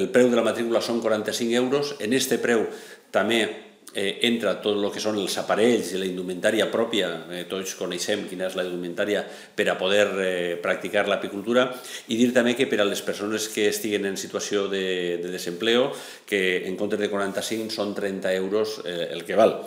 El preu de la matrícula són 45 euros. En aquest preu també entra tot el que són els aparells i la indumentària pròpia. Tots coneixem quina és la indumentària per a poder practicar l'apicultura. I dir també que per a les persones que estiguen en situació de desempleo, que en comptes de 45 són 30 euros el que val.